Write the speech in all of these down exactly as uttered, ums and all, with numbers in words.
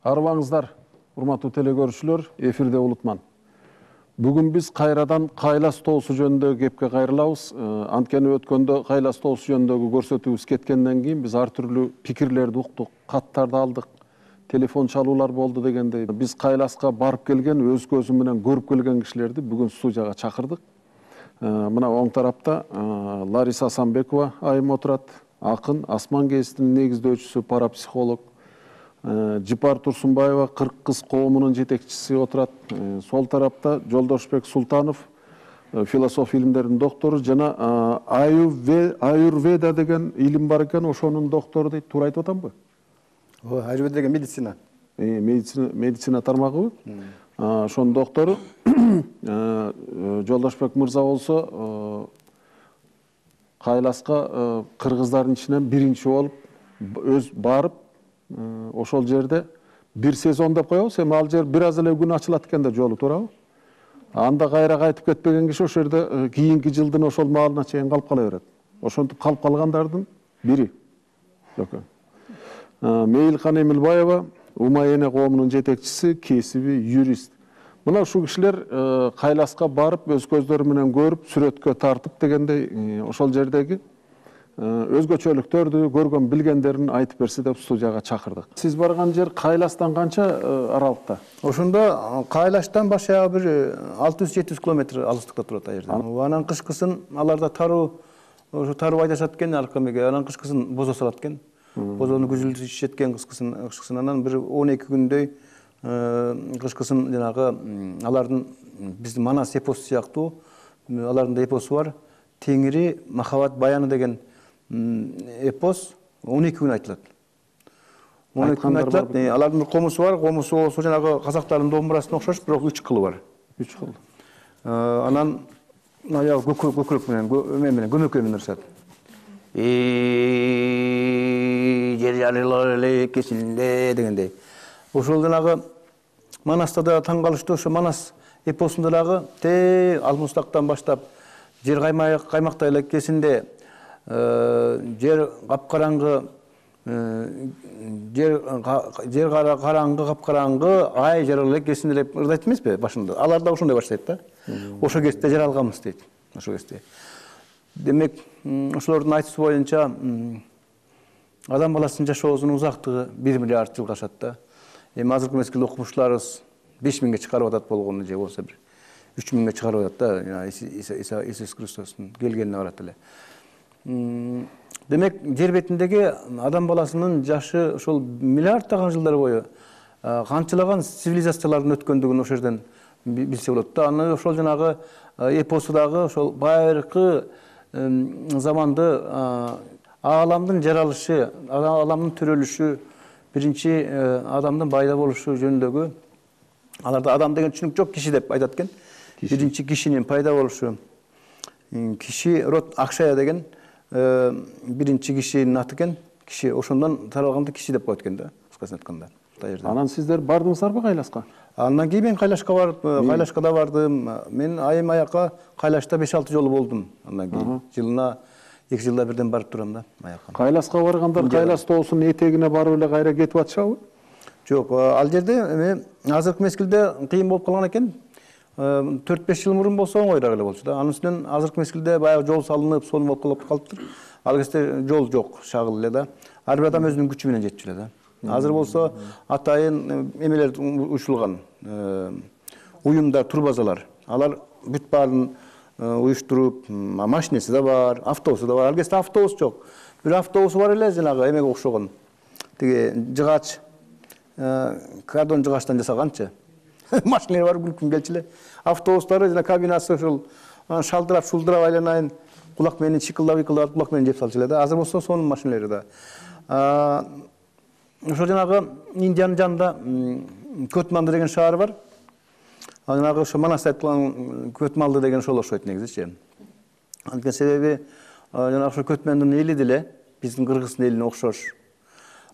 Арыбаңыздар, урматтуу телекөрүүчүлөр, эфирде Улутман. Бүгүн биз кайрадан Кайлас тоосу жөнүндө кепке кайрылабыз. Анткени өткөндө Кайлас тоосу жөнүндөгү көрсөтүүбүз кеткенден кийин биз ар түрдүү пикирлерди уктук, каттарды алдык, телефон чалуулар болду дегендей. Биз Кайласка барып келген, өз көзү менен көрүп келген кишилерди бүгүн студияга чакырдык. Мына оң тарапта Лариса Асанбекова айым отурат, акын, Асман гезитинин негиздөөчүсү, парапсихолог. Жипар Турсунбаева кырк кыз коомунун жетекчиси отурат. Сол тарапта Жолдошбек Султанов, философия илимдеринин доктору жана аюрведа деген илим бар экен, ошонун доктору дейт. Туура айтып атамбы? Ооба, аюрведа деген медицина. Медицина, медицина тармагыбы? Ошонун доктору. Жолдошбек мырза болсо Кайласка кыргыздардын ичинен биринчи болуп өз барып, ошол жерде бир сезон деп коебуз. Эми ал жер бир аз эле күн ачылат экен да жолу, туурабы? Анда кайра кайтып кетпеген киши ошол жерде кийинки жылдын ошол маалына чейин калып кала берет. Ошентип калып калгандардын бири. Мейлкан Эмилбаева, Умай эне коомунун жетекчиси, кесиби юрист. Мына ушул кишилер Кайласка барып, өз көздөрү менен көрүп, сүрөткө тартып дегендей ошол жердеги өзгөчөлүктөрдү, көргөн билгендерин айтып берсе деп студияга чакырдык. Сиз барган жер Кайластан канча аралыкта? Ошондо Кайлаштан баш аягы бир алты жүз жети жүз километр алыстыкта турат ал жерде. Анан кышкысын аларда таруу, ошо таруу айдашат экен аркамеге. Анан кышкысын бозо салат экен. Бозону күзүлдү ичишет экен кышкысын, кышкысын анан бир он эки күндөй кышкысын жанагы алардын биздин Манас эпосу сыяктуу алардын да эпосу бар. Теңири махабат баяны деген эпос он эки күн айтылат. он эки күн айтылат. Алардын бир комусу бар, комусу болсо жанагы казактардын домбурасына окшош, бирок үч кылы бар. үч кыл. Анан аягы көкүрөк менен, эме менен, көмөкөй менен ырышат. И жер жарылар эле кесилинде дегендей. Ошол жанагы Манаста да таң калыштуу, ошо Манас эпосунда дагы те Алмустактан баштап жер каймактай эле кесинде жер капкараңгы, жер жер караңгы, капкараңгы, ай жарылар эле кесинде деп ырдайт эмеспи башында. Алар да ошондой баштайт да. Ошол кезде жаралганбыз дейт. Ошол кезде. Демек, ошолордун айтуусу боюнча адам баласынын жашоосунун узактыгы бир миллиард жылга ашат да. Эми азыркы мезгилде окумуштууларыбыз беш миңге чыгарып атат болгону же болсо бир үч миңге чыгарып атат да. Иисус Христостун келгенине барат эле. Демек, жер бетиндеги адам баласынын жашы ошол миллиарддаган жылдар бою канчалаган цивилизациялардын өткөндүгүн ошол жерден билсе болот да. Аны ошол жанагы эпосудагы ошол байыркы заманды ааламдын жаралышы, ааламдын төрөлүшү, биринчи адамдын пайда болушу жөнүндөгү, аларда адам деген түшүнүк жок, киши деп айтат экен. Биринчи кишинин пайда болушу. Киши род Акшая деген биринчи кишинин аты экен. Киши ошондон таралганда киши деп коет экен да, кыскасын айтканда. Анан сиздер бардыңыздарбы Кайласка? Андан кийин мен Кайлашка барып, Кайлашка да бардым. Мен айым аяка Кайлашта беш алты жолу болдум. Андан кийин жылына эки жылда бирден барып турам да аяка. Кайласка баргандар Кайлас тоосунун этегине барып эле кайра кетип атышабы? Жок, ал жерде эми азыркы мезгилде кыйын болуп калган экен. төрт беш жыл мурун болсо оңойраак эле болчу да. Анын үстүнөн азыркы мезгилде баягы жол салынып, сонун болуп калыптыр. Ал кезде жол жок, шагыл эле да. Ар бир адам өзүнүн күчү менен жетчү эле да. Азыр болсо атайын эмелер уюштурулган, уюмдар, турбазалар. Алар бүт баарын уюштуруп, машинеси да бар, автобусу да бар. Ал кезде автобус жок. Бир автобусу бар эле, жанагы эмеге окшогон. Тиги жыгач, кардон жыгачтан жасаганчы. Машиналар бар, күлкүн келчү эле. Автобустары жана кабинасы ошол шалдырап, шулдырап айланайын, кулак менен чыкылдап-ыкылдап, кулак менен жеп салчу эле да. Азыр болсо сонун машиналары да. Ошол жанагы Индиянын жанында Көтманды деген шаар бар. Жанагы ошо Манас айткан Көтмалды деген ошол окшойт негизичи. Анткени себеби жанагы ошо Көтмандын эли деле биздин Кыргыздын элине окшош.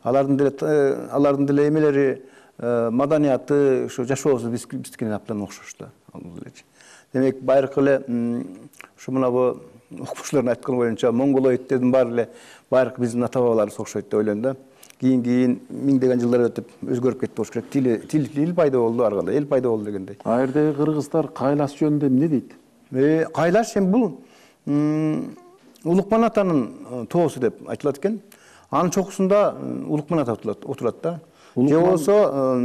Алардын деле алардын деле эмелери, маданияты, ошо жашоосу биздикине абдан окшош да. Демек, байыркы эле ошо мына окумуштуулардын айтканы боюнча монголоидтердин баары эле байыркы биздин ата бабаларыбыз окшойт деп ойлойм да. кийин кийин миңдеген жылдар өтүп өзгөрүп кетти болуш керек. Тил тил тил пайда болду, ар кандай эл пайда болду дегендей. А жердеги кыргыздар кайлаш жөнүндө эмне дейт? Э, кайлаш эми бул Улукман атанын тоосу деп айтылат экен. Анын чокусунда Улукман ата отурат да. Же болсо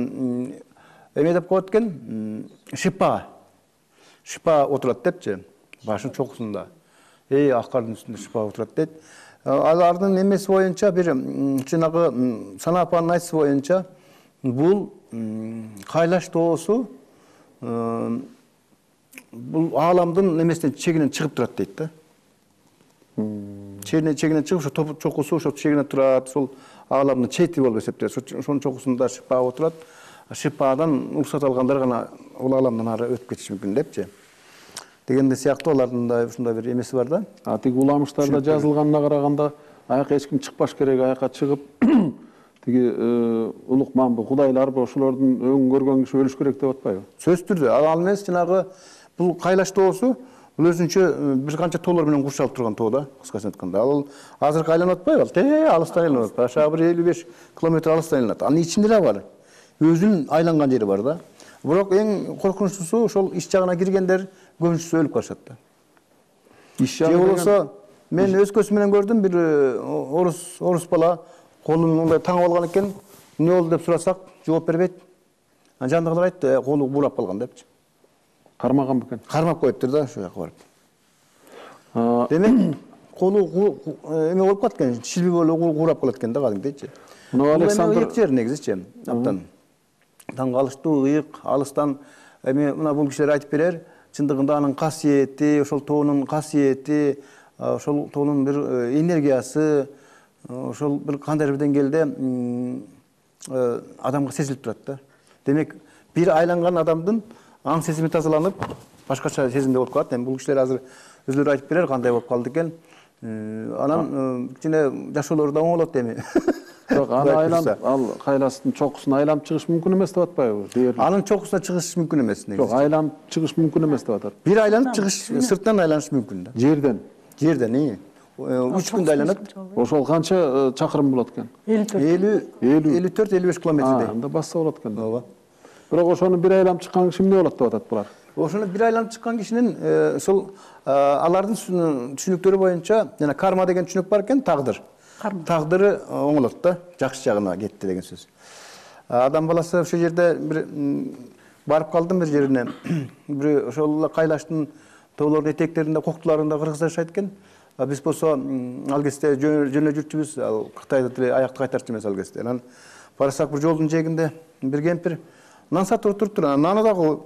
эме деп коет экен, Шипа. Шипа отурат депчи, башынын чокусунда. Эй, ак кардын үстүндө Шипа отурат дейт. Алардын эмеси боюнча бир жанагы Сана апанын айтышы боюнча бул кайлаш тоосу бул ааламдын эмесинен чегинен чыгып турат дейт да. Чегинен чегинен чыгып, ошо чокусу ошо чегинен турат, сол ааламдын чети болуп эсептелет. Ошонун чокусунда Шипа отурат. Шипадан уруксат алгандар гана бул ааламдан ары өтүп кетиши мүмкүн депчи. Дегенде сыяктуу алардын да ушундай бир эмеси бар да. А тиги уламыштарда жазылганына караганда аяка эч ким чыкпаш керек, аяка чыгып тиги Улукманбы, Кудайларбы ошолордун өң көргөн киши өлүш керек деп атпайбы? Сөзсүз түрдө. Ал эмес жанагы бул кайлаш тоосу бул өзүнчө бир канча тоолор менен курчалып турган тоо да, кыскасын айтканда. Ал азыркы айланып атпайбы? Ал те алыстан айланып атпайбы? Аша бир элүү беш километр алыстан айланат. Анын ичинде да бар. Өзүнүн айланган жери бар да. Бирок эң коркунучтуусу ошол иш жагына киргендер көбүнчөсү өлүп калышат да. Иш жагы болсо мен өз көзүм менен көрдүм, бир орус орус бала колун мындай таңып алган экен. Эмне болду деп сурасак, жооп бербейт. Анан жандагылар айтты, колу буурап калган депчи. Кармаган бекен. Кармап коюптур да ошол жака барып. Демек, колу эме болуп калат экен, шилби болуп куурап калат экен да кадимгидейчи. Мына Александр эки жер негизичи. Абдан таң калыштуу, ыйык, алыстан эми мына бул кишилер айтып берер. Чындыгында анын касиети, ошол тоонун касиети, ошол тоонун бир энергиясы, ошол бир кандайдыр бир деңгээлде адамга сезилип турат да. Демек, бир айланган адамдын аң сезими тазаланып, башкача сезимде болуп калат. Эми бул кишилер азыр өзүлөрү айтып берер кандай болуп калды экен. Анан кичине жашоолору да оңолот эми. Жок, аны айланып, ал кайластын чокусун айланып чыгыш мүмкүн эмес деп атпайбы? Анын чокусуна чыгыш мүмкүн эмес негизи. Жок, айланып чыгыш мүмкүн эмес деп атат. Бир айланып чыгыш, сырттан айланыш мүмкүн да. Жерден. Жерден, ии. үч күндө айланат. Ошол канча чакырым болот экен? элүү төрт элүү беш километрдей. Анда басса болот экен. Ооба. Бирок ошону бир айланып чыккан киши эмне болот деп атат булар? Ошону бир айланып чыккан кишинин ошол алардын түшүнүктөрү боюнча, жана карма деген түшүнүк бар экен, тагдыр. Тагдыры оңолот да, жакшы жагына кетти деген сөз. Адам баласы ошол жерде бир барып калдым бир жерине. Бир ошол кайлаштын тоолордун этектеринде, коктуларында кыргыздар жашайт экен. Биз болсо ал кезде жөнө жүрчүбүз, ал Кытайда деле аякты кайтарчу эмес ал кезде. Анан барсак бир жолдун жээгинде бир кемпир нан сатып туруптур. Наны дагы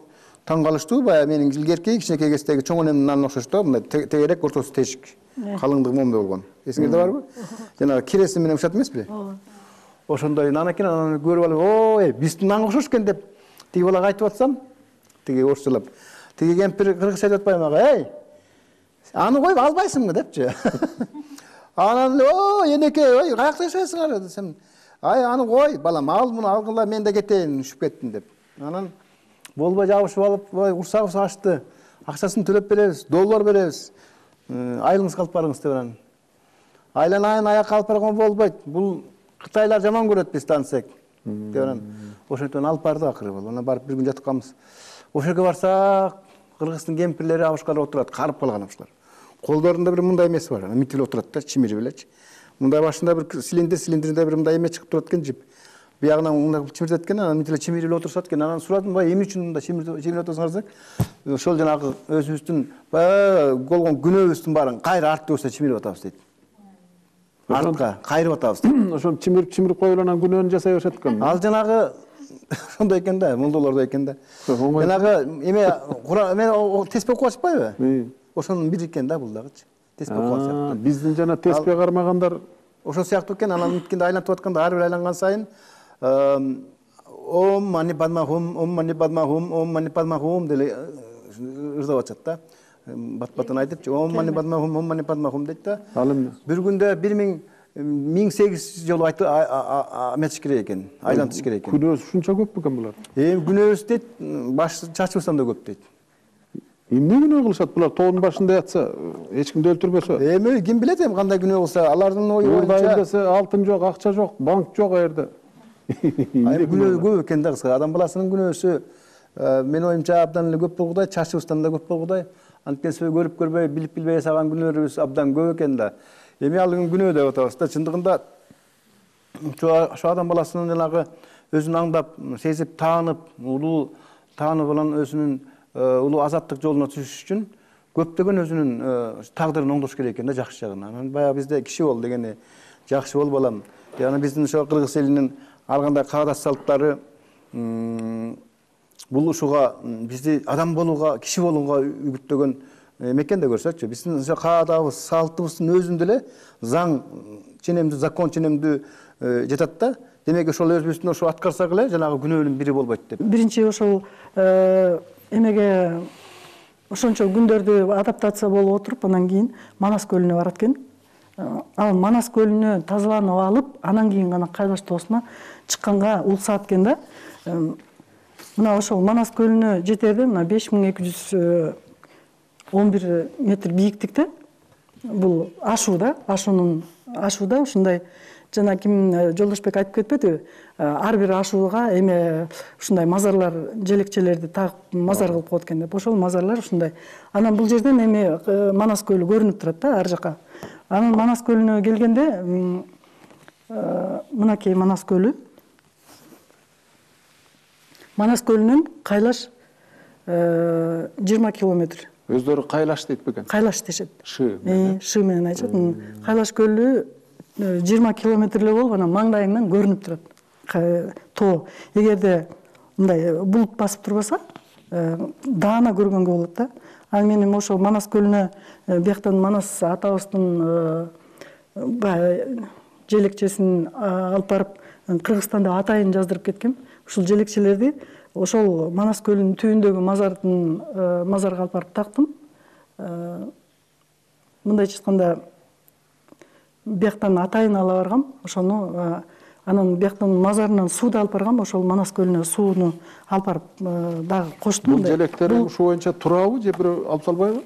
таң калыштуу, баягы менин илгерки кичинекей кездеги чоң энемдин нанына окшош да, мындай тегерек, ортосу тешик. Калыңдыгы момундай болгон. Эсиңерде барбы? Жана киресин менен ушат эмеспи? Ооба. Ошондой нан экен, анан көрүп алып, ой, биздин нанга окшош экен деп тиги балага айтып атсам, тиги орусчалап. Тиги кемпир кыргызча айтып атпайбы мага, эй, аны коюп албайсыңбы депчи. Анан, ой, энеке, ой, каякта жашайсыңар десем, ай, аны кой, балам, ал муну алгыла, мен да кетейин, үшүп кеттим деп. Анан болбой жабышып алып, ой, урсагыбыз ачты. Акчасын төлөп беребиз, доллар беребиз. Айылыңызга алып барыңыз деп анан. Айланайын, аякка алып барган болбойт. Бул Кытайлар жаман көрөт бизди ансек. Деп анан ошентип алып барды акыры бол. Анан барып бир күн жатып калабыз. Ошол жерге барсак, кыргыздын кемпирлери абышкалар отурат, карып калган абышкалар. Колдорунда бир мындай эмеси бар, митилип отурат да, чимири белечи. Мындай башында бир цилиндр, цилиндринде бир мындай эме чыгып турат экен, жип. Биягынан мындай чимирет экен, анан митилип чимирип отурушат экен. Анан сурадым, бай, эмне үчүн мындай чимирип отурсуңар десек, ошол жанагы өзүбүздүн баягы болгон күнөөбүздүн баарын кайра артыбызда чимирип атабыз дейт. Артка кайрып атабыз дейт. Ошону чимирип чимирип коюп анан күнөөнү жасай беришет экен. Ал жанагы ошондой экен да, мулдаларда экен да. Жанагы эме мен теспе окуп атпайбы? Ошонун бири экен да бул дагычы. Теспе окуп атат. Биздин жана теспе кармагандар ошол сыяктуу экен. Анан миткенде айлантып атканда ар бир айланган сайын ом мани падмахум, ом мани падмахум, ом мани падмахум деле ырдап атат да. Бат-батын айтып, ом мани падмахум, ом мани падмахум дейт да. Ал эмне? Бир күндө бир миң миң сегиз жолу айтып эметиш керек экен, айлантыш керек экен. Күнөөсү ушунча көп бекен булар? Эми күнөөбүз дейт, баш чачыбыздан да көп дейт. Эмне күнөө кылышат булар? Тоонун башында ятса, эч кимди өлтүрбөсө. Эми ким билет эми кандай күнөө кылса, алардын ою Уурдайм боюнча десе, алтын жок, акча жок, банк жок аерде. күнөө көп экен да кыска. Адам баласынын күнөөсү менин оюмча абдан эле көп болгудай, чачыбыздан да көп болгудай. Анткени көрүп көрбөй, билип билбей жасаган күнөөлөрүбүз абдан көп экен да. Эми ал күнөө деп атабыз да. Чындыгында ошо адам баласынын жанагы өзүн аңдап, сезип, таанып, улуу таанып алан өзүнүн улуу азаттык жолуна түшүш үчүн көптөгөн өзүнүн тагдырын оңдош керек экен да жакшы жагына. Анан баягы бизде киши бол дегени жакшы бол балам. Яна биздин ошо кыргыз элинин ар кандай каадат салттары бул ушуга бизди адам болууга, киши болууга үгүттөгөн экен да көрсөтчү. Биздин ошо каадабыз, салтыбыздын өзүндө эле заң ченемдүү, закон ченемдүү жатат да. Демек ошол өзүбүздүн ошо аткарсак эле жанагы күнөөнүн бири болбойт деп. Биринчи ошол эмеге ошончо күндөрдү адаптация болуп отуруп, анан кийин Манас көлүнө барат экен. Ал Манас көлүнө тазаланып алып, анан кийин гана Кайлаш тоосуна чыкканга улсаат экен да. Мына ошол Манас көлүнө жетерде мына беш миң эки жүз он бир метр бийиктикте бул ашуу да, ашуунун ашууда ушундай жана ким Жолдошбек айтып кетпедиби? Ар бир ашууга эме ушундай мазарлар, желекчелерди тагып мазар кылып коет экен деп. Ошол мазарлар ушундай. Анан бул жерден эме Манас көлү көрүнүп турат да ар жака. Анан Манас көлүнө келгенде мынакей Манас көлү. Манас көлүнөн Кайлаш жыйырма километр. Өздөрү Кайлаш дейт бекен? Кайлаш дешет. Шы. Шы менен айтышат. Кайлаш көлү жыйырма километр эле болуп, анан маңдайыңдан көрүнүп турат тоо. Эгерде мындай булут басып турбаса, даана көргөнгө болот да. Ал менен ошол Манас көлүнө бияктан Манас атабыздын желекчесин алып барып Кыргызстанда атайын жаздырып кеткем. Ушул желекчелерди ошол Манас көлүнүн түбүндөгү мазардын мазарга алып барып тактым. Мындайча айтканда бияктан атайын ала баргам, ошону анан бияктан мазарынан сууду алып баргам, ошол Манас көлүнө сууну алып барып дагы коштум. Бул желектер ушул боюнча турабы же бирөө алып салбайбы?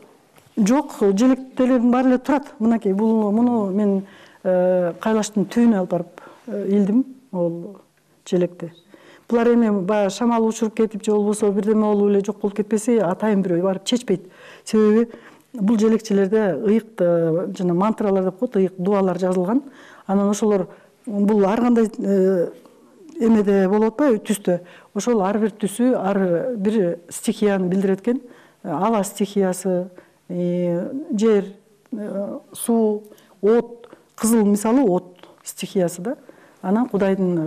Жок, желектердин баары эле турат. Мынакей бул муну мен Кайлаштын түбүнө алып барып илдим ол желекти. Булар эми баягы шамал учуруп кетип же болбосо бирдеме болуп эле жок болуп кетпесе, атайын бирөө барып чечпейт. Себеби бул желекчелерде ыйык жана мантралар деп коет, ыйык дуалар жазылган. Анан ошолор бул ар кандай эмеде болуп атпайбы, түстө. Ошол ар бир түсү ар бир стихияны билдирет экен. Ава стихиясы, жер, суу, от, кызыл мисалы от стихиясы да. Анан Кудайдын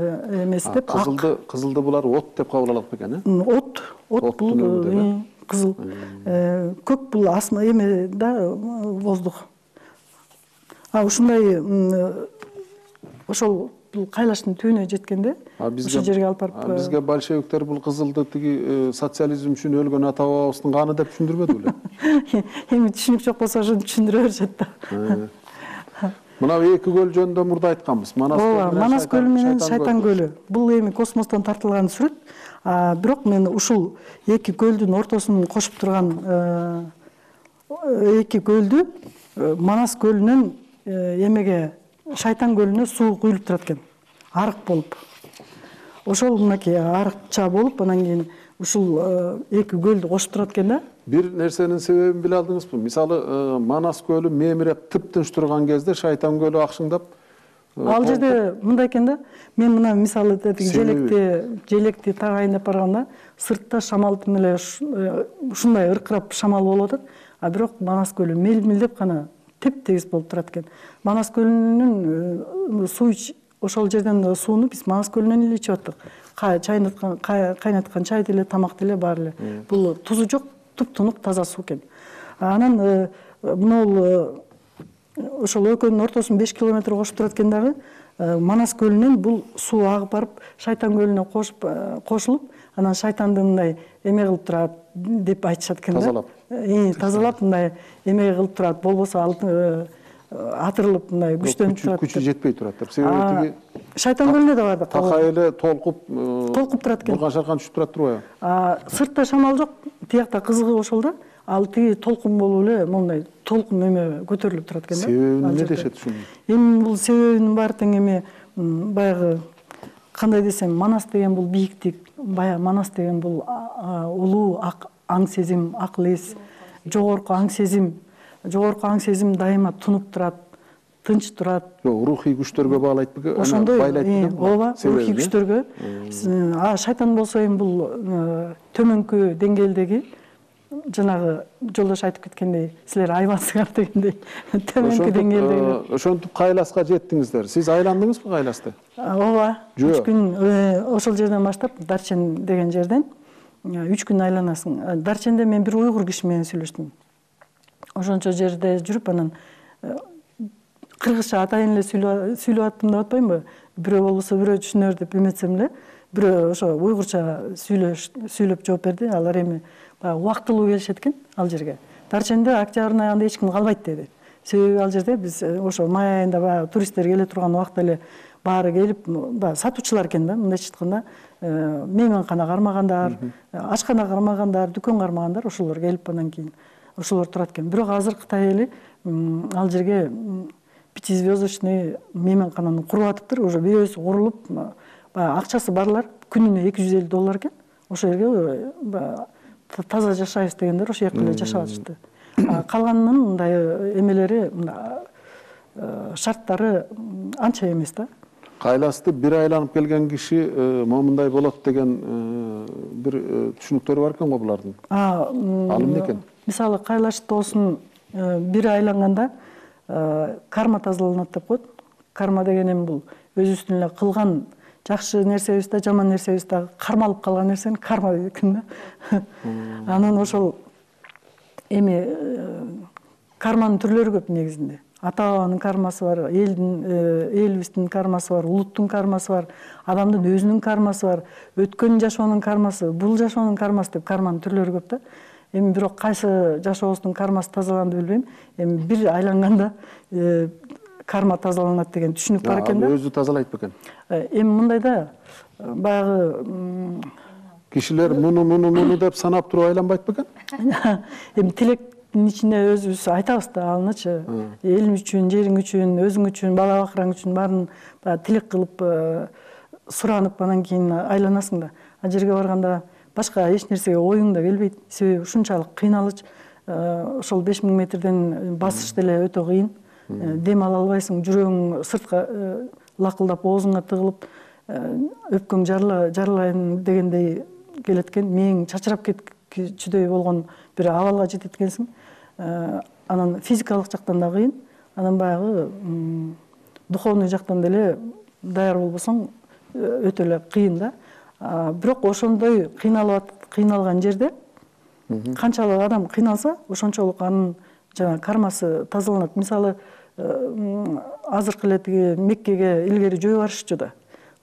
эмеси деп ак. Кызылды, кызылды булар от деп кабыл алат бекен, э? От, от бул кызыл. Көк бул асма эме да воздух. А ушундай ошол бул Кайлаштын түбүнө жеткенде ошол жерге алып барып бизге большевиктер бул кызылды тиги социализм үчүн өлгөн ата бабабыздын каны деп түшүндүрбөдү беле? Эми түшүнүк жок болсо ошону түшүндүрө беришет да. Мына эки көл жөнүндө мурда айтканбыз. Манас көлү менен Шайтан көлү. Бул эми космостон тартылган сүрөт. Бирок мен ушул эки көлдүн ортосун кошуп турган эки көлдү Манас көлүнөн эмеге Шайтан көлүнө суу куюлуп турат экен. Арык болуп. Ошол мынакей арыкча болуп, анан кийин ушул эки көлдү кошуп турат экен да. Бир нерсенин себебин биле алдыңызбы? Мисалы, Манас көлү мемиреп тып-тынч турган кезде Шайтан көлү акшыңдап. Ал жерде мындай экен да. Мен мына мисалы желекти, желекти тагайындап барганда сыртта шамал эле ушундай ыркырап шамал болуп атат. А бирок Манас көлү мел-мелдеп гана теп-тегиз болуп турат экен. Манас көлүнүн суу ошол жерден сууну биз Манас көлүнөн эле ичип аттык. Чайнаткан, кайнаткан чай деле, тамак деле бар эле. Бул тузу жок, туп-тунук таза суу экен. Анан мына ошол экөөнүн ортосун беш километр кошуп турат экен дагы. Манас көлүнөн бул суу агып барып Шайтан көлүнө кошуп кошулуп, анан шайтанды мындай эме кылып турат деп айтышат экен да. Тазалап. Э, тазалап мындай эме кылып турат, болбосо ал атырылып мындай күчтөнүп турат. Күчү жетпей турат деп. Себеби тиги Шайтан көлүнө да бар да. Такай эле толкуп, толкуп турат экен. Бурган шаркан түшүп турат турбайбы? Сыртта шамал жок, тиякта кызыгы ошол да. ал тиги толкун болуп эле мондай толкун эме көтөрүлүп турат экен да. Себеби эмне дешет ушуну? Эми бул себебинин баары тең эми баягы кандай десем, Манас деген бул бийиктик, баягы Манас деген бул улуу аң сезим, акыл эс, жогорку аң сезим, жогорку аң сезим дайыма тунуп турат, тынч турат. Жок, рухий күчтөргө байлайт беле? Ошондой, ооба, рухий күчтөргө. А шайтан болсо эми бул төмөнкү деңгээлдеги жанагы жолдош айтып кеткендей, силер айбансыңар дегендей төмөнкү деңгээлдеги. Ошентип Кайласка жеттиңиздер. Сиз айландыңызбы Кайласты? Ооба. үч күн ошол жерден баштап, Дарчен деген жерден үч күн айланасың. Дарченде мен бир уйгур киши менен сүйлөштүм. Ошончо жерде жүрүп, анан кыргызча атайын эле сүйлөп аттым деп атпаймынбы? Бирөө болбосо бирөө түшүнөр деп эметсем эле, бирөө ошо уйгурча сүйлөп жооп берди. Алар эми убактылуу келишет экен ал жерге. Дарченде октябрдын аягында эч ким калбайт деди. Себеби ал жерде биз ошо май айында баягы туристтер келе турган убакта эле баары келип, баягы сатуучулар экен да, мындайча айтканда, мейманкана кармагандар, ашкана кармагандар, дүкөн кармагандар, ошолор келип анан кийин ошолор турат экен. Бирок азыр Кытай эли ал жерге пятизвездочный мейманкананы куруп атыптыр. Уже бирөөсү курулуп, баягы акчасы барлар күнүнө эки жүз элүү доллар экен. Ошол жерге таза жашайбыз дегендер ошол жакта эле жашап атышты. Калганынын мындай эмелери, шарттары анча эмес да. Кайласты бир айланып келген киши момундай болот деген бир түшүнүктөрү бар экен го булардын. Ал эмне экен? Мисалы Кайлаш тоосун бир айланганда карма тазаланат деп коет. Карма деген эми бул өзүбүздүн эле кылган жакшы нерсебиз да, жаман нерсебиз да кармалып калган нерсени карма дейт экен да. Анан ошол эми карманын түрлөрү көп негизинде. Ата бабанын кармасы бар, элдин, элибиздин кармасы бар, улуттун кармасы бар, адамдын өзүнүн кармасы бар, өткөн жашоонун кармасы, бул жашоонун кармасы деп карманын түрлөрү көп да. Эми бирок кайсы жашообуздун кармасы тазаланды билбейм. Эми бир айланганда карма тазаланат деген түшүнүк бар экен да. Өзү тазалайт бекен? Эми мындай да, баягы кишилер муну муну муну деп санап туруп айланбайт бекен? Эми тилектин ичинде өзүбүз айтабыз да алынычы. Элиң үчүн, жериң үчүн, өзүң үчүн, бала бакыраң үчүн баарын тилек кылып, суранып анан кийин айланасың да. А жерге барганда башка эч нерсеге оюң да келбейт. Себеби ушунчалык кыйналыч, ошол беш миң метрден басыш деле өтө кыйын. Дем ала албайсың, жүрөгүң сыртка лакылдап, оозуңа тыгылып, өпкөң жарылайын дегендей келет экен. Мээң чачырап кетчүдөй болгон бир абалга жетет экенсиң. Анан физикалык жактан да кыйын, анан баягы духовный жактан деле даяр болбосоң өтө эле кыйын да. Бирок ошондой кыйналып кыйналган жерде канчалык адам кыйналса, ошончолук анын жана кармасы тазаланат. Мисалы, азыркы эле тиги Меккеге илгери жөө барышчу да.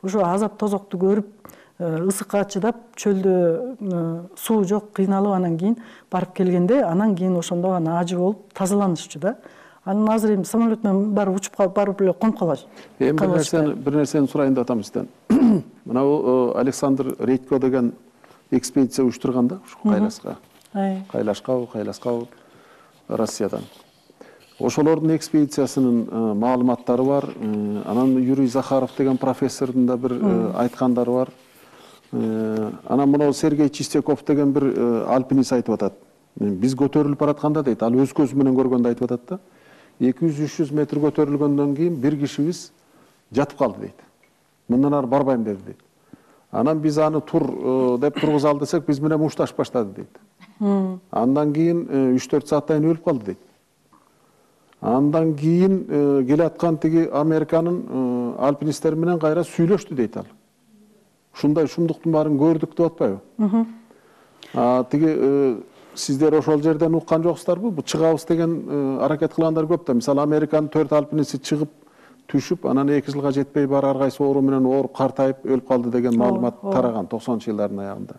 Ошо азап тозокту көрүп, ысыкка чыдап, чөлдө суу жок, кыйналып анан кийин барып келгенде, анан кийин ошондо гана ажы болуп тазаланышчу да. Анан азыр эми самолет менен барып учуп калып, барып эле конуп калат. Эми бир нерсени, бир нерсени сурайын деп атам сизден. Мына Александр Редько деген экспедиция уюштурган да, ушу Кайласка. Кайлашка, Кайласка Россиядан. Ошолордун экспедициясынын маалыматтары бар. Анан Юрий Захаров деген профессордун да бир айткандары бар. Анан мына Сергей Чистяков деген бир альпинист айтып атат. Биз көтөрүлүп баратканда дейт, ал өз көзү менен көргөндө айтып атат да. эки жүз үч жүз метр көтөрүлгөндөн кийин бир кишибиз жатып калды дейт. Мындан ары барбайм деди дейт. Анан биз аны тур деп тургузалы десек, биз менен мушташып баштады дейт. Андан кийин үч төрт сааттан өлүп калды дейт. Андан кийин келе аткан тиги Американын альпинисттери менен кайра сүйлөштү дейт ал. Ушундай шумдуктун баарын көрдүк деп атпайбы? Тиги сиздер ошол жерден уккан жоксуздарбы? Бу чыгабыз деген аракет кылгандар көп да. Мисалы Американын төрт альпинисти чыгып, түшүп, анан эки жылга жетпей бар ар кайсы оору менен ооруп картайып өлүп калды деген маалымат тараган токсонунчу жылдардын аягында.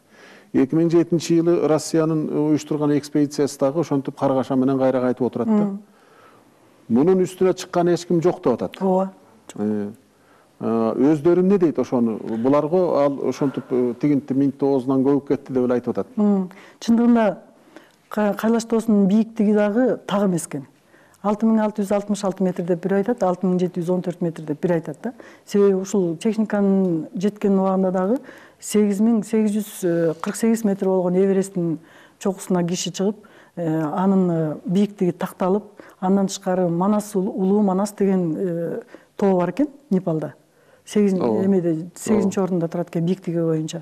эки миң жетинчи жылы Россиянын уюштурган экспедициясы дагы ошентип каргаша менен кайра кайтып отурат да. Мунун үстүнө чыккан эч ким жок деп атат. Ооба. Өздөрү эмне дейт ошону? Буларга ал ошентип тигинти минтти оозунан көбүп кетти деп эле айтып атат. Чындыгында Кайлаш тоосунун бийиктиги дагы так эмес экен. алты миң алты жүз алтымыш алты метр деп бир айтат, алты миң жети жүз он төрт метр деп бир айтат да. Себеби ушул техниканын жеткен убагында дагы сегиз миң сегиз жүз кырк сегиз метр болгон Эвересттин чокусуна киши чыгып, анын бийиктиги такталып, андан тышкары Манас, Улуу Манас деген тоо бар экен Непалда. Эмеде сегизинчи орунда турат экен бийиктиги боюнча.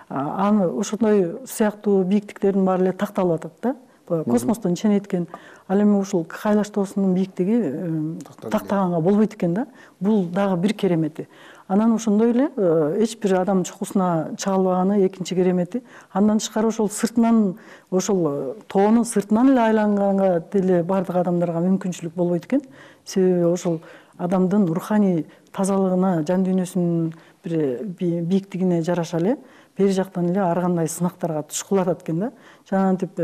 Аны ошондой сыяктуу бийиктиктердин баары эле такталып атат да. Космостон ченеткен. Ал эми ушул Кайлаш тоосунун бийиктиги тактаганга болбойт экен да. Бул дагы бир керемети. Анан ошондой эле эч бир адам чокусуна чыга албаганы экинчи керемети. Андан тышкары ошол сыртынан, ошол тоонун сыртынан эле айланганга деле бардык адамдарга мүмкүнчүлүк болбойт экен. Себеби ошол адамдын руханий тазалыгына, жан дүйнөсүнүн бир бийиктигине жараша эле бери жактан эле ар кандай сынактарга туш кылатат экен да. Жанагынтип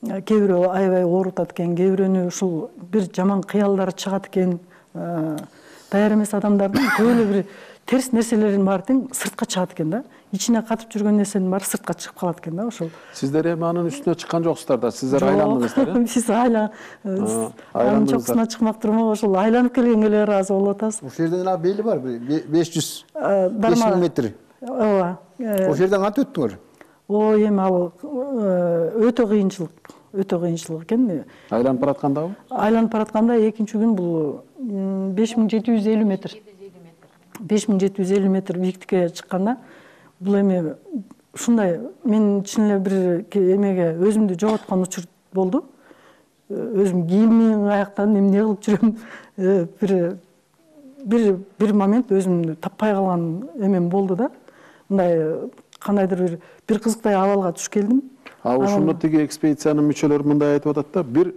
кээ бирөө аябай оорутат экен, кээ бирөөнү ушул бир жаман кыялдар чыгат экен. Даяр эмес адамдардын көп эле бир терс нерселерин баары тең сыртка чыгат экен да. Ичине катып жүргөн нерсенин баары сыртка чыгып калат экен да ошол. Сиздер эми анын үстүнө чыккан жоксуздар да, сиздер айландыңыздар э? Биз айла анын чокусуна чыкмак турмак, ошол айланып келгенге эле ыраазы болуп атабыз. Ошол жерден ана бели бар, беш жүз беш миң метр. Ооба. Ошол жерден кантип өттүңөр? Ой, эми ал өтө кыйынчылык, өтө кыйынчылык экен. Айланып бараткандабы? Айланып баратканда экинчи күн бул беш миң жети жүз элүү метр. беш миң жети жүз элүү метр бийиктикке чыкканда бул эми ушундай мен чын эле бир эмеге өзүмдү жоготкон учур болду. Өзүм кийимим аяктан эмне кылып жүрөм, бир бир бир момент өзүмдү таппай калган эмем болду да. Мындай кандайдыр бир бир кызыктай абалга туш келдим. А ошондо тиги экспедициянын мүчөлөрү мындай айтып атат да, бир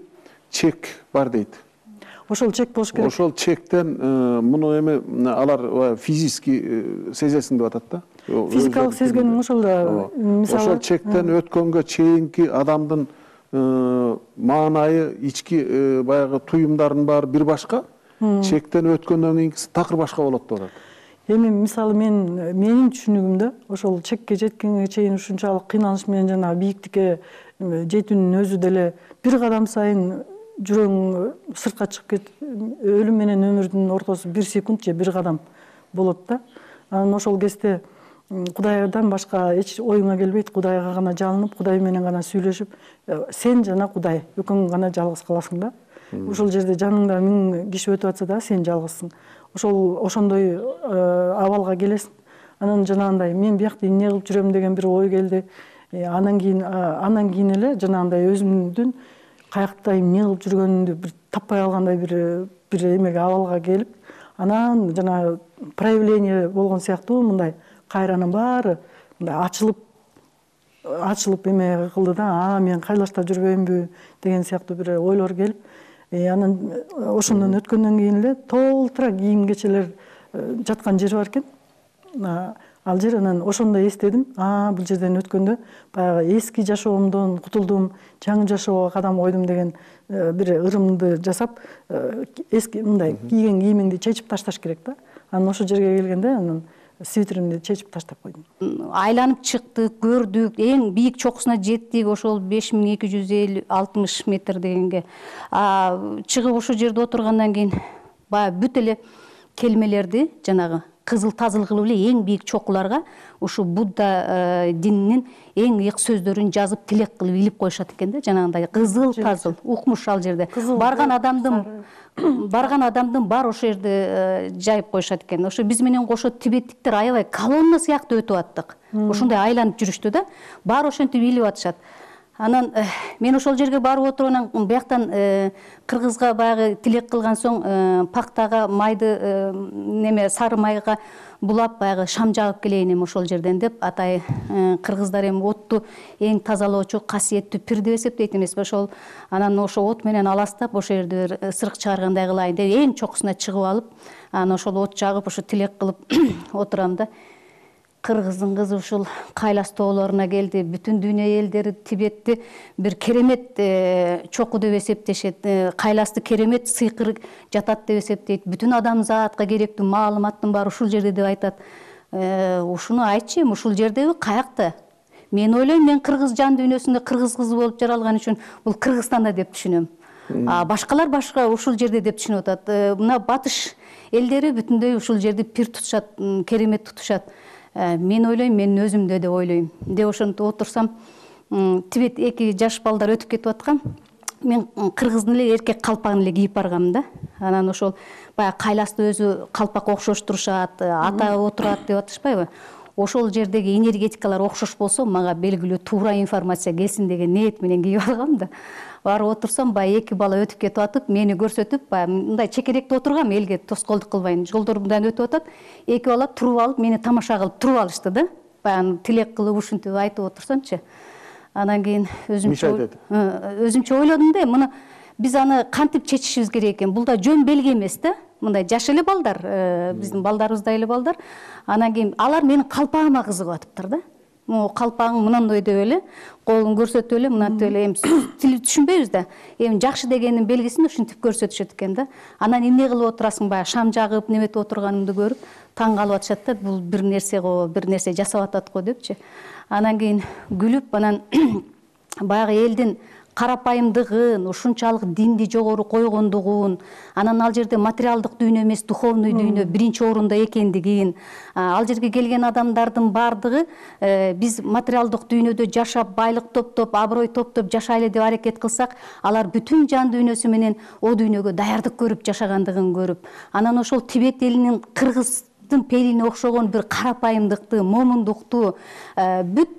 чек бар дейт. Ошол чек болуш керек. Ошол чектен муну эми алар физически сезесиң деп атат да. Физикалык сезгеним ошол да. Мисалы, ошол чектен өткөнгө чейинки адамдын маанайы, ички баягы туюмдардын баары бир башка, чектен өткөндөн кийинкиси такыр башка болот деп атат. Эми мисалы мен менин түшүнүгүмдө ошол чекке жеткенге чейин ушунчалык кыйналыш менен жана бийиктикке жетүүнүн өзү деле бир кадам сайын жүрөгүң сыртка чыгып кетип, өлүм менен өмүрдүн ортосу бир секунд же бир кадам болот да. Анан ошол кезде Кудайдан башка эч оюңа келбейт, Кудайга гана жалынып, Кудай менен гана сүйлөшүп, сен жана Кудай экөөң гана жалгыз каласың да. Ошол жерде жаныңда миң киши өтүп атса да сен жалгызсың. Ошол ошондой абалга келесиң. Анан жанагындай мен биякта эмне кылып жүрөм деген бир ой келди. Анан кийин андан кийин эле жанагындай өзүмдүн каякта эмне кылып жүргөнүмдү бир таппай калгандай бир бир эмеге абалга келип, анан жана проявление болгон сыяктуу мындай кайранын баары мындай ачылып ачылып эме кылды да, а мен Кайлашта жүрбөймүнбү деген сыяктуу бир ойлор келип, анан ошондон өткөндөн кийин эле толтура кийим кечелер жаткан жер бар экен. Ал жер, анан ошондо эстедим, а бул жерден өткөндө баягы эски жашоомдон кутулдум, жаңы жашоого кадам койдум деген бир ырымды жасап, эски мындай кийген кийимиңди чечип ташташ керек да. Анан ошол жерге келгенде анан свитеримди чечип таштап койдум. Айланып чыктык, көрдүк, эң бийик чокусуна жеттик, ошол беш миң эки жүз элүү алтымыш метр дегенге. Чыгып ошол жерде отургандан кийин баягы бүт эле келмелерди жанагы кызыл тазыл кылып эле эң бийик чокуларга ушу Будда дининин эң ыйык сөздөрүн жазып тилек кылып илип коюшат экен да, жанагындай кызыл тазыл укмуш ал жерде. Барган адамдын барган адамдын бар ошол жерде жайып коюшат экен. Ошо биз менен кошо тибеттиктер аябай колонна сыяктуу өтүп аттык. Ошондой айланып жүрүштү да. Баары ошентип илип атышат. Анан мен ошол жерге барып отуруп, анан бияктан кыргызга баягы тилек кылган соң пактага майды неме сары майга булап баягы шам жагып келейин эми ошол жерден деп, атай кыргыздар эми отту эң тазалоочу, касиеттүү пир деп эсептейт эмеспи. Ошол анан ошо от менен аластап ошол жерде бир ысырык чыгаргандай кылайын деп эң чокусуна чыгып алып, анан ошол от жагып ошо тилек кылып отурам да. Кыргыздын кызы ушул Кайлас тоолоруна келди. Бүтүн дүйнө элдери Тибетти бир керемет чоку деп эсептешет. Кайласты керемет сыйкыр жатат деп эсептейт. Бүтүн адамзатка керектүү маалыматтын баары ушул жерде деп айтат. Ушуну айтчы, эми ушул жердеби каякта? Мен ойлойм, мен кыргыз жан дүйнөсүндө кыргыз кызы болуп жаралган үчүн бул Кыргызстанда деп түшүнөм. А башкалар башка ушул жерде деп түшүнүп атат. Мына батыш элдери бүтүндөй ушул жерди пир тутушат, керемет тутушат. Мен ойлойм, мен өзүмдө деп ойлойм. Деп ошентип отурсам, тибет эки жаш балдар өтүп кетип аткан. Мен кыргыздын эле эркек калпагын эле кийип баргам да. Анан ошол баягы кайласты өзү калпак окшоштурушат, ата отурат деп атышпайбы? Ошол жердеги энергетикалар окшош болсо, мага белгилүү туура информация келсин деген ниет менен кийип алгам да. Барып отурсам, баягы эки бала өтүп кетип атып, мени көрсөтүп, баягы мындай чекеректе отургам, элге тоскоолдук кылбайын. Жолдор мындан өтүп атат. Эки бала туруп алып, мени тамаша кылып туруп алышты да. Баягы тилек кылып ушинтип айтып отурсамчы. Анан кийин өзүмчө өзүмчө ойлодум да, муну биз аны кантип чечишибиз керек экен? Бул да жөн белги эмес да. Мындай жаш эле балдар, биздин балдарыбыздай эле балдар. Анан кийин алар менин калпагыма кызыгып атыптыр да. Могу калпагың мынандай деп эле, колун көрсөтүп эле, мынантип эле, эми тил түшүнбөйбүз да. Эми жакшы дегенин белгисин ушинтип көрсөтүшөт экен да. Анан эмне кылып отурасың, баягы шам жагып, неметип отурганымды көрүп, таң калып атышат да, бул бир нерсе го, бир нерсе жасап атат го депчи. Анан кийин күлүп, анан баягы элдин карапайымдыгын, ушунчалык динди жогору койгондугун, анан ал жерде материалдык дүйнө эмес, духовный дүйнө биринчи орунда экендигин, ал жерге келген адамдардын баардыгы биз материалдык дүйнөдө жашап, байлык топтоп, аброй топтоп жашайлы деп аракет кылсак, алар бүтүн жан дүйнөсү менен о дүйнөгө даярдык көрүп жашагандыгын көрүп, анан ошол Тибет элинин кыргыз пейилине окшогон бир карапайымдыкты, момундукту, бүт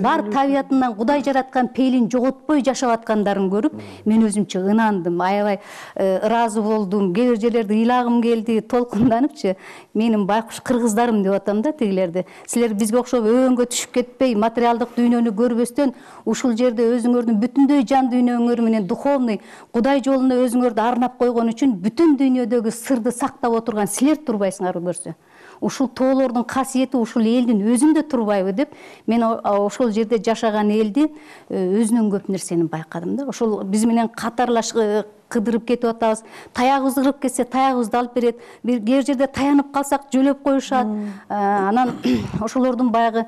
бар табиятынан Кудай жараткан пейилин жоготпой жашап аткандарын көрүп, мен өзүмчө ынандым, аябай ыраазы болдум. Кээ бир жерлерде ыйлагым келди, толкунданыпчы. Менин байкуш кыргыздарым деп атам да тигилерди. Силер бизге окшоп өбөнгө түшүп кетпей, материалдык дүйнөнү көрбөстөн, ушул жерде өзүңөрдүн бүтүндөй жан дүйнөңөр менен духовный Кудай жолуна өзүңөрдү арнап койгон үчүн бүтүн дүйнөдөгү сырды сактап отурган силер турбайсыңар көрсө. Ушул тоолордун касиети ушул элдин өзүндө турбайбы деп, мен ошол жерде жашаган элди өзүнөн көп нерсени байкадым да. Ошол биз менен катарлаш кыдырып кетип атабыз. Таягыбыз ырып кетсе, таягыбызды алып берет. Бир кээ бир жерде таянып калсак, жөлөп коюшат. Анан ошолордун баягы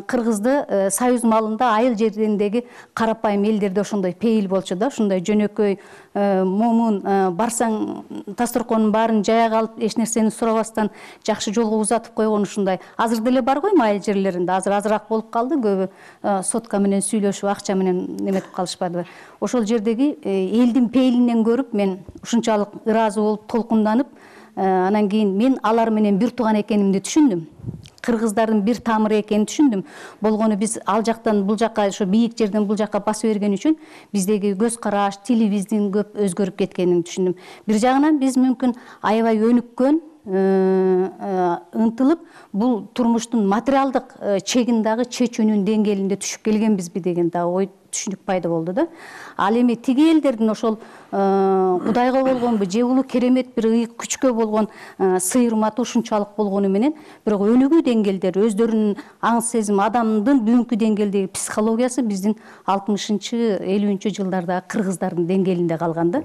кыргызды союз малында айыл жериндеги карапайым элдерде ошондой пейил болчу да, ушундай жөнөкөй, момун, барсаң дасторконун баарын жая алып, эч нерсени сурабастан жакшы жолго узатып койгон ушундай. Азыр деле бар койму айыл жерлеринде? Азыр азыраак болуп калды, көбү сотка менен сүйлөшүп, акча менен неметип калышпадыбы? Ошол жердеги элдин пейилинен көрүп, мен ушунчалык ыраазы болуп, толкунданып, анан кийин мен алар менен бир тууган экенимди түшүндүм. Кыргыздардын бир тамыры экенин түшүндүм. Болгону биз ал жактан бул жакка, ошо бийик жерден бул жакка басып берген үчүн биздеги көз караш, тилибиздин көп өзгөрүп кеткенин түшүндүм. Бир жагынан биз мүмкүн аябай өнүккөн, ынтылып, бул турмуштун материалдык чегин дагы чечүүнүн деңгээлинде түшүп келгенбизби деген дагы ой түшүнүк пайда болду да. Ал эми тиги элдердин ошол Кудайга болгонбу, же улуу керемет бир ыйык күчкө болгон сыйырматы ушунчалык болгону менен, бирок өнүгүү деңгээлдери, өздөрүнүн аң сезим, адамдын бүгүнкү деңгээлдеги психологиясы биздин алтымышынчы, элүүнчү жылдардагы кыргыздардын деңгээлинде калган да.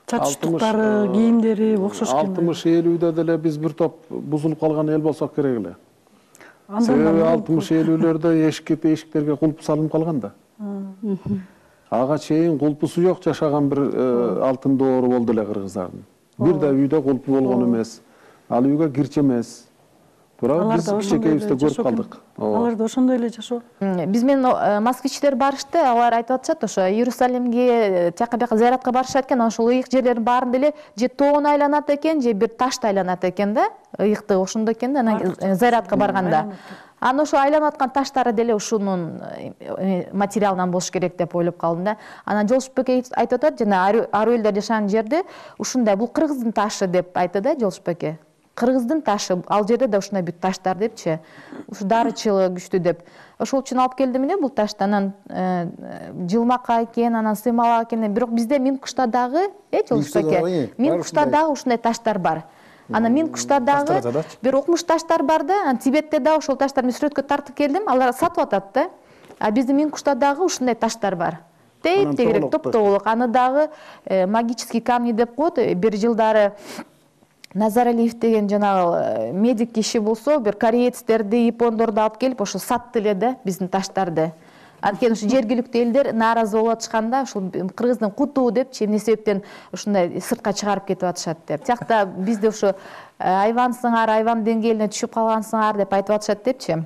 Чатыштыктары, кийимдери окшош экен. алтымыш элүүдө деле биз бир топ бузулуп калган эл болсок керек эле. Себеби алтымыш элүүлөрдө эшикке эшиктерге кулп салынып калган да. Ага чейин кулпусу жок жашаган бир алтын доору болду эле кыргыздардын. Бир да үйдө кулпу болгон эмес. Ал үйгө кирчи эмес. Бирок биз кичинекейибизде көрүп калдык. Алар да ошондой эле жашоо. Биз менен москвичтер барышты, алар айтып атышат, ошо Иерусалимге, тияка бияка зыяратка барышат экен, ошол ыйык жерлердин баарында эле же тоон айланат экен, же бир ташты айланат экен да. Ыйыкты ошондо экен да, анан зыяратка барганда. Анан ошо айланып аткан таштары деле ушунун материалынан болуш керек деп ойлоп калдым да. Анан Жолшупбек айтып атат, жана ару элдер жашаган жерде ушундай, бул кыргыздын ташы деп айтты да Жолшупбек. Кыргыздын ташы, ал жерде да ушундай бүт таштар депчи. Ушу дарычылыгы күчтүү деп. Ошол үчүн алып келдим эле бул ташты. Анан жылмакка экен, анан сыймалак экен. Бирок бизде Минкушта дагы, э Жолшупбек, Минкушта дагы ушундай таштар бар. Анан Минкушта дагы бир окмуш таштар бар да, Тибетте дагы ошол таштарды сүрөткө тартып келдим, алар сатып атат да. А биздин Минкушта дагы ушундай таштар бар. Тейп тегерек, топтогулук. Аны дагы магический камни деп коет. Бир жылдары Назаралиев деген жанагы медик киши болсо, бир кореецтерди, япондорду алып келип ошо сатты эле да биздин таштарды. Анткени ушу жергиликтүү элдер нааразы болуп атышканда, ушул кыргыздын куту депчи, эмне себептен ушундай сыртка чыгарып кетип атышат деп. Тиякта бизде ушу айвансыңар, айван деңгээлине түшүп калгансыңар деп айтып атышат депчи.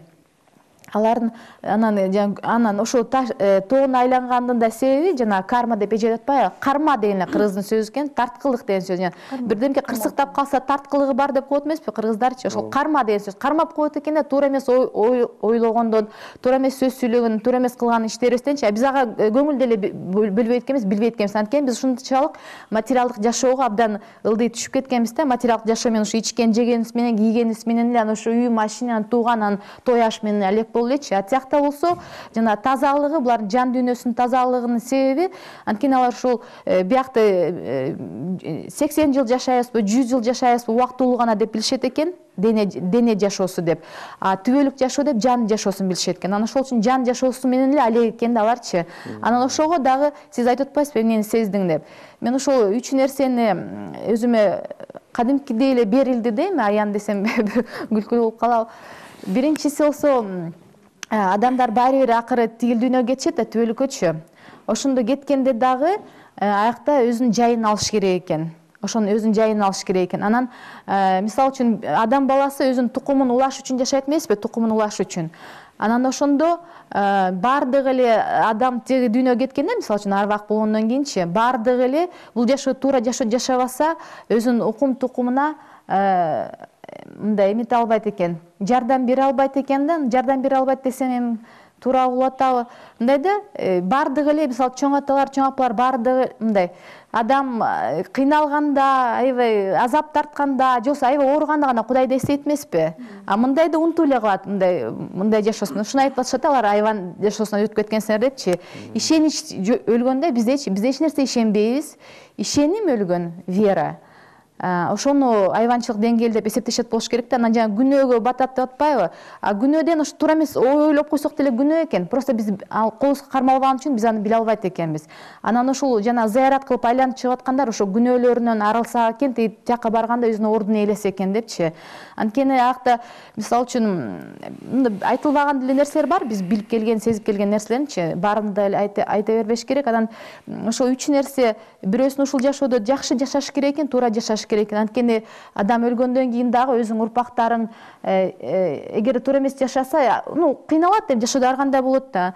Алардын анан анан ошо тоонун айлангандын да себеби жана карма деп эже атпайбы? Карма деген кыргыздын сөзү экен, тарткылык деген сөз. Бирдемке кырсыктап калса тарткылыгы бар деп коет эмеспи кыргыздарчы? Ошол карма деген сөз. Кармап коет экен да, туура эмес ойлогондон, туура эмес сөз сүйлөгөндөн, туура эмес кылган иштерибизденчи. Биз ага көңүл деле бөлбөйт экенбиз, билбейт экенбиз. Анткени биз ушунчалык материалдык жашоого абдан ылдый түшүп кеткенбиз да. Материалдык жашоо менен ушу ичкен, жегенибиз менен, кийгенибиз менен эле анан ошо үй, машина, тууган, анан той аш менен элек элечи. А тиякта болсо жана тазалыгы, булардын жан дүйнөсүнүн тазалыгынын себеби, анткени алар ушул биякта сексен жыл жашайбызбы, жүз жыл жашайбызбы, убактылуу гана деп билишет экен. Дене дене жашоосу деп. А түбөлүк жашоо деп жан жашоосун билишет экен. Анан ошол үчүн жан жашоосу менен эле алек экен да аларчы. Анан ошого дагы сиз айтып атпайсызбы, эмнени сездиң деп. Мен ошол үч нерсени өзүмө кадимкидей эле берилди дейм, аян десем күлкүлүү болуп калабы. Биринчиси болсо, адамдар баары бир акыры тигил дүйнөгө кетишет да, түбөлүккөчү. Ошондо кеткенде дагы аякта өзүнүн жайын алыш керек экен. Ошонун өзүнүн жайын алыш керек экен. Анан мисалы үчүн адам баласы өзүнүн тукумун улаш үчүн жашайт эмеспи, тукумун улаш үчүн. Анан ошондо баардыгы эле адам тиги дүйнөгө кеткенде, мисалы үчүн арбак болгондон кийинчи, баардыгы эле бул жашоо туура жашоо жашабаса, өзүнүн укум тукумуна мындай эмете албайт экен, жардам бере албайт экен да. Жардам бере албайт десем эми туура болуп атабы? Мындай да, баардыгы эле мисалы чоң аталар, чоң апалар баардыгы мындай адам кыйналганда, аябай азап тартканда, же болбосо аябай ооруганда гана Кудайды эстейт эмеспи? А мындайды унутуп эле калат, мындай мындай жашоосун. Ушуну айтып атышат, алар айван жашоосуна өтүп кеткенсиңер депчи. Ишенич өлгөндө биздечи, биз эч нерсе ишенбейбиз. Ишеним өлгөн, вера. Ошону айванчылык деңгээлде деп эсептешет болуш керек да. Анан жана күнөөгө батат деп атпайбы? А күнөөдөн ошо туура эмес ойлоп койсок деле күнөө экен. Просто биз колубузга кармалбаган үчүн биз аны биле албайт экенбиз. Анан ушул жана зыярат кылып айланып чыгып аткандар ошо күнөөлөрүнөн арылса экен, тияка барганда өзүнүн ордуна ээлесе экен депчи. Анткени акта мисалы үчүн айтылбаган деле нерселер бар, биз билип келген, сезип келген нерселеринчи, баарын да айта бербеш керек. Анан ошо үч нерсе бирөөсүн ушул жашоодо жакшы жашаш керек экен, туура жашаш керек экен. Анткени адам өлгөндөн кийин дагы өзүң урпактарың эгер туура эмес жашаса, ну кыйналат деп жашоодо ар кандай болот да.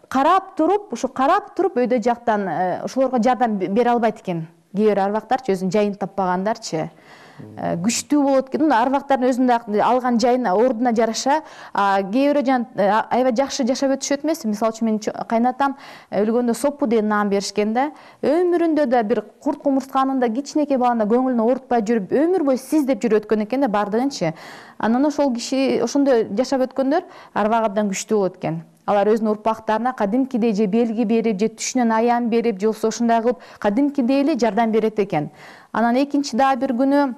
Карап туруп, ушу карап туруп өйдө жактан ошолорго жардам бере албайт экен. Кээ бир арбактарчы өзүнүн жайын таппагандарчы. Күчтүү болот экен. Арбактардын өзүнүн алган жайына, ордуна жараша, кээ бирөө жана аябай жакшы жашап өтүшөт эмес. Мисалы үчүн менин кайнатам өлгөндө Соппу деген наам беришкен да. Өмүрүндө да бир курт кумурсканында кичинекей баланда көңүлүн оорутпай жүрүп, өмүр бою сиз деп жүрүп өткөн экен да баардыгынчы. Анан ошол киши ошондой жашап өткөндөр арбак абдан күчтүү болот экен. Алар өзүнүн урпактарына кадимкидей же белги берип, же түшүнөн аян берип, же болбосо ушундай кылып кадимкидей эле жардам берет экен. Анан экинчи дагы бир күнөө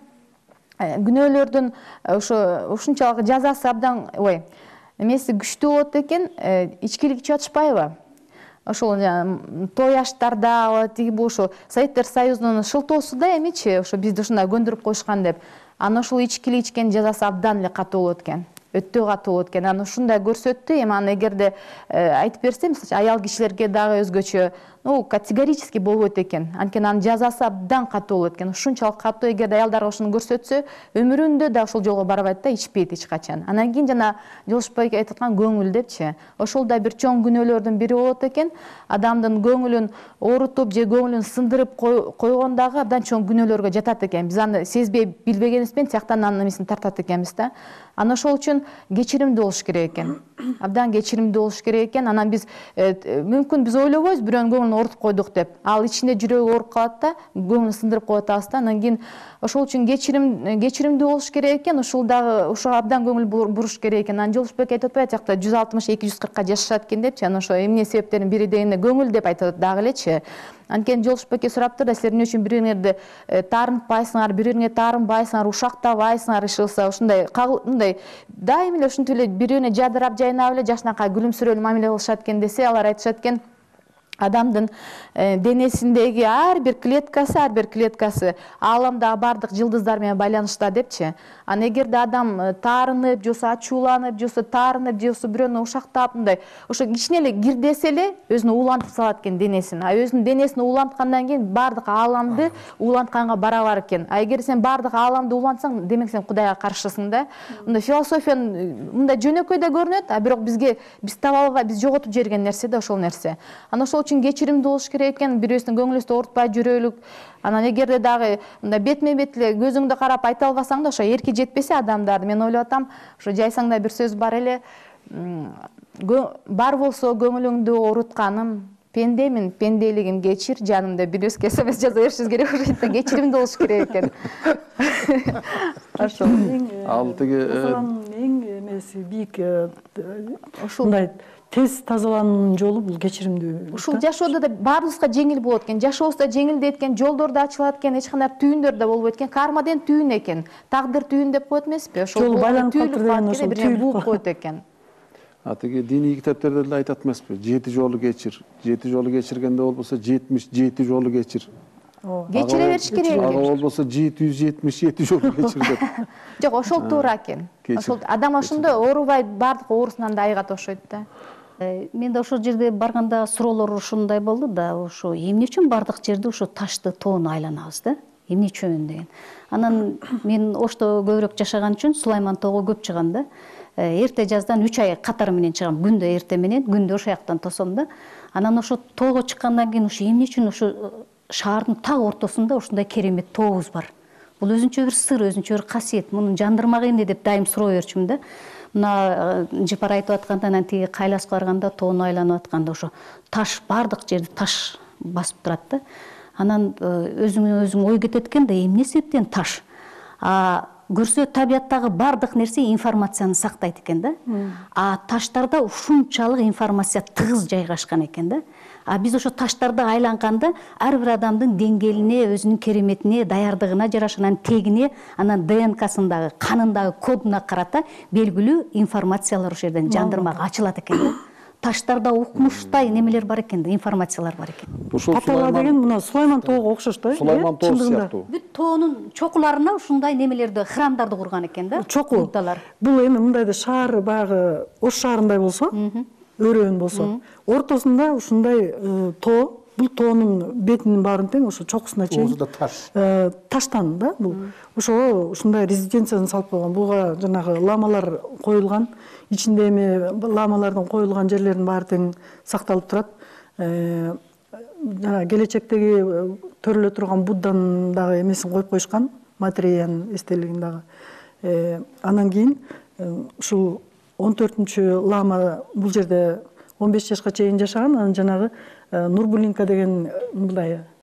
күнөөлөрдүн ошо ушунчалык жазасы абдан ой эмеси күчтүү болот экен, ичкилик ичип атышпайбы? Ошол той аштарда тиги бул ошо Советтер Союзунун шылтоосу да эмичи, ошо бизди ушундай көндүрүп коюшкан деп. Анан ошол ичкилик ичкен жазасы абдан эле катуу болот экен. Өтө катуу болот экен. Анан ушундай көрсөттү. Эми аны эгерде айтып берсем, аял кишилерге дагы өзгөчө, ну, категорически болбойт экен. Анткени анын жазасы абдан катуу болот экен. Ушунчалык катуу, эгерде аялдарга ошону көрсөтсө, өмүрүндө да ошол жолго барбайт да, ичпейт эч качан. Анан кийин жана Жолушбай айтып аткан көңүл депчи. Ошол да бир чоң күнөөлөрдүн бири болот экен. Адамдын көңүлүн оорутуп же көңүлүн сындырып койгондагы абдан чоң күнөөлөргө жатат экен. Биз аны сезбей билбегенибиз менен тияктан анын эмесин тартат экенбиз да. Анан ошол үчүн кечиримдүү болуш керек экен. Абдан кечиримдүү болуш керек экен. Анан биз мүмкүн биз ойлобойбуз бирөөнүн көңүлүн оорутуп койдук деп. Ал ичинде жүрөгү ооруп калат да, көңүлүн сындырып коюп атабыз да. Анан кийин ошол үчүн кечирим кечиримдүү болуш керек экен. Ошол дагы ошого абдан көңүл буруш керек экен. Анан Жолушбек айтып атпайбы, тиякта жүз алтымыш эки жүз кыркка жашашат экен депчи. Анан ошо эмне себептердин бири дегенде көңүл деп айтат дагы элечи. Анткени Жолушбекке сураптыр да, силер эмне үчүн бириңерди таарынтпайсыңар, бириңерге таарынбайсыңар, ушактабайсыңар, иш кылса ушундай мындай дайыма эле ушинтип эле бири-бирине жадырап жайнап эле жакшынакай күлүмсүрөөлүү мамиле кылышат экен десе, алар айтышат экен, адамдын денесиндеги ар бир клеткасы ар бир клеткасы ааламдагы баардык жылдыздар менен байланышта депчи. Анан эгерде адам таарынып, же болбосо ачууланып, же болбосо таарынып, же болбосо бирөөнү ушактап мындай ошо кичине эле кирдесе эле өзүн уулантып салат экен денесин. А өзүнүн денесин ууланткандан кийин баардык ааламды уулантканга барабар экен. А эгер сен баардык ааламды уулантсаң, демек сен Кудайга каршысың да. Мындай философиянын мындай жөнөкөй да көрүнөт, а бирок бизге биз таба албай, биз жоготуп жиберген нерсе да ошол нерсе. Анан ошол үчүн кечиримдүү болуш керек экен, бирөөсүнүн көңүлүбүздү оорутпай жүрөлүк. Анан эгерде дагы мындай бетме бет эле көзүңдү карап айта албасаң да, ошо эрки жетпесе адамдарды, мен ойлоп атам, ошо жайсаң да бир сөз бар эле, бар болсо көңүлүңдү оорутканым, пендемин, пенделигим кечир, жанымда бир эс смс жаза беришибиз керек, ошо кечиримдүү болуш керек экен. Ошол. Ал тиги эң эмеси бийик ушундай тез тазалануунун жолу бул кечиримдүү. Ушул жашоодо да баарыбызга жеңил болот экен, жашообуз да жеңилдейт экен, жолдор да ачылат экен, эч кандай түйүндөр да болбойт экен. Карма деген түйүн экен, тагдыр түйүн деп коет эмеспи? Ошол байланып калыптыр деген ошол түйүн бууп коет экен. А тиги диний китептерде деле айтат эмеспи? Жети жолу кечир. Жети жолу кечиргенде болбосо жетимиш жети жолу кечир. Кечире бериш керек. Ага болбосо жети жүз жетимиш жети жолу кечир деп. Жок, ошол туура экен. Ошол адам ошондо оорубай баардык оорусунан да айыгат окшойт да. Мен да ошол жерде барганда суроолор ушундай болду да, ошо эмне үчүн бардык жерде ошо ташты, тоону айланабыз да? Эмне үчүн деген. Анан мен Ошто көбүрөөк жашаган үчүн Сулайман тоого көп чыгам да. Эрте жаздан үч ай катары менен чыгам, күндө эрте менен, күндө ошол жактан тосом да. Анан ошо тоого чыккандан кийин ошо эмне үчүн ошо шаардын так ортосунда ушундай керемет тообуз бар. Бул өзүнчө бир сыр, өзүнчө бир касиет. Мунун жандырмак эмне деп дайым суроо берчүмүн да. Мына Жыпар айтып атканда, анан тиги Кайласка барганда тоону айланып атканда ошо таш, баардык жерди таш басып турат да. Анан өзүңө өзүң ой кетет экен да, эмне себептен таш? А көрсө табияттагы баардык нерсе информацияны сактайт экен да. А таштарда ушунчалык информация тыгыз жайгашкан экен да. А биз ошо таштарды айланганда ар бир адамдын деңгээлине, өзүнүн кереметине, даярдыгына жараша, анан тегине, анан ДНКсындагы, канындагы кодуна карата белгилүү информациялар ошол жерден жандырмак ачылат экен да. Таштарда укмуштай немелер бар экен да, информациялар бар экен. Татала деген мына Сулайман тоого окшош да. Сулайман тоо сыяктуу. Бүт тоонун чокуларына ушундай немелерди, храмдарды курган экен да. Чоку. Бул эми мындайда шаар баягы Ош шаарындай болсо, өрөөн болсо, ортосунда ушундай тоо, бул тоонун бетинин баарын тең ошо чокусуна чейин таштан да бул. Ошого ушундай резиденцияны салып койгон. Буга жанагы ламалар коюлган. Ичинде эми ламалардын коюлган жерлеринин баары тең сакталып турат. Жана келечектеги төрөлө турган Будданын дагы эмесин коюп коюшкан, материянын эстелигин дагы. Анан кийин ушул он төртүнчү лама бул жерде он беш жашка чейин жашаган. Анан жанагы Нурбулинка деген мындай